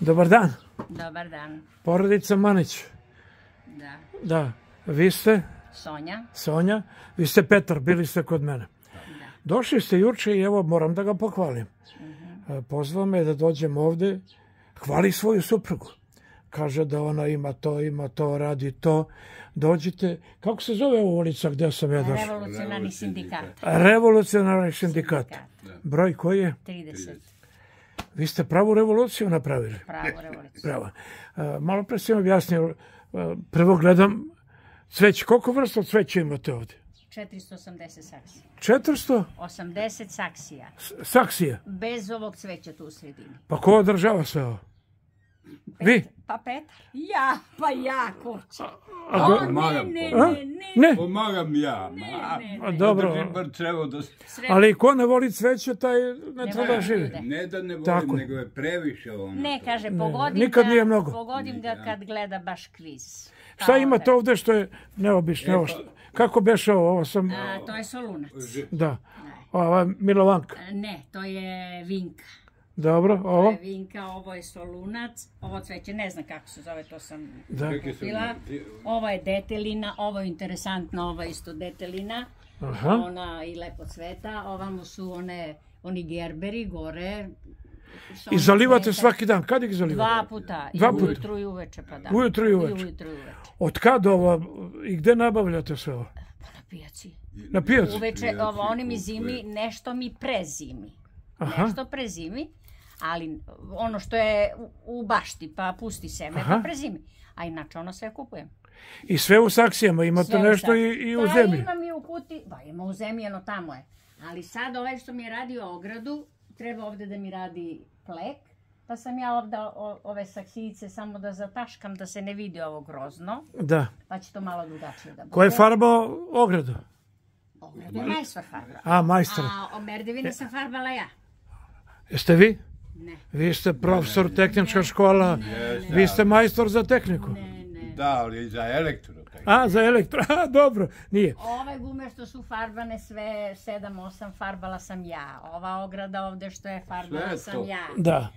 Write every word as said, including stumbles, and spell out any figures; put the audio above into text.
Dobar dan. Dobar dan. Porodica Manić. Da. Da. Vi ste? Sonja. Sonja. Vi ste Petar, bili ste kod mene. Da. Došli ste juče i evo moram da ga pohvalim. Pozvao me da dođem ovde, hvali svoju suprugu. Kaže da ona ima to, ima to, radi to. Dođite. Kako se zove ova ulica gdje sam ja došao? Revolucionarni sindikat. Revolucionarni sindikat. Broj koji je? trideset. Vi ste pravu revoluciju napravili. Pravu revoluciju. Pravo. Malo pre sam objasnio. Prvo gledam cveće. Koliko vrsta cveća imate ovdje? četiristo osamdeset saksija. četiristo? osamdeset saksija. Saksija? Bez ovog cveća tu u sredini. Pa ko održava sve ovo? Vi? Pa Petar. Ja, pa ja, kurče. A, ne, ne, ne, ne. Ne? Pomagam ja. A, dobro. Ali ko ne voli cveće, taj ne treba da živi. Ne da ne volim, nego je previše ono. Ne, kaže, pogodim nikad ga, nije mnogo. pogodim ga kad gleda baš kviz. Šta imate ovdje što je neobično? Ovo što- Kako beše ovo? Ovo sam... A, to je solunac. Da. Ova je Milovanka. Ne, to je vinka. Dobro, To ovo? je vinka, ovo je solunac, ovo cveće, ne znam kako se zove, to sam Da. kupila. Ovo je detelina, ovo je interesantno, ovo je isto detelina. Aha. Ona i lepo cveta, ovamo su one, oni gerberi gore. I zalivate svaki dan. Kad ih zalivate? Dva puta, i Dva puta? ujutru i uveče, pa da. Ujutru i uveče. I ujutru i uveče. Od kad ovo i gde nabavljate sve ovo? Pa na pijaci. Na pijaci? Uveče, ovo, oni mi zimi, nešto mi prezimi. Aha. Nešto prezimi, ali ono što je u- u bašti, pa pusti seme, Aha. pa prezimi. A inače ono sve kupujem. I sve u saksijama, imate Sve u nešto sad. i, i u Da, zemlji. imam i u kuti, ba ima u zemlji, ono tamo je. Ali sad ovaj što mi je radio ogradu, treba ovdje da mi radi plek, pa sam ja ovdje o- ove saksijice samo da zataškam, da se ne vidi ovo grozno, Da. pa će to malo drugačije da bude. Ko je farbao ogradu? Ogradu je majstor farba. A, majstor. A o merdevine sam farbala ja. Jeste vi? Ne, Vi ste profesor tehnička škola, vi ste majstor za tehniku. ne, ne. Da, ali i za elektro. A, za elektro, a, dobro, nije. Ove gume što su farbane sve sedam osam farbala sam ja. Ova ograda ovdje što je farbala Sve sam to. ja. Da.